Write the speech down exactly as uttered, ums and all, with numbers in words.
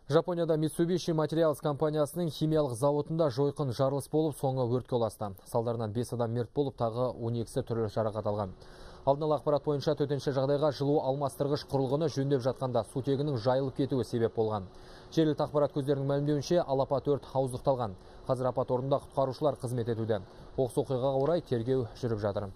Жапонияда Mitsubishi Materials компаниясының химиялық зауытында жойқын жарылыс болып, соңы өртке ұласты. Салдарынан бес адам мерт болып, тағы он екісі түрлі жарақат алған. Алдын ала ақпарат бойынша төтенше жағдайға жылу алмастырғыш құрылғыны жөндеп жатқанда сутегінің жайылып кетуі себеп болған. Жергілікті ақпарат көздерінің мәлімдеуінше алапат өрт ауыздықталған. Қазір апат орнында құтқарушылар қызмет етуде. Оқыс оқиғаға орай тергеу жүріп жатыр.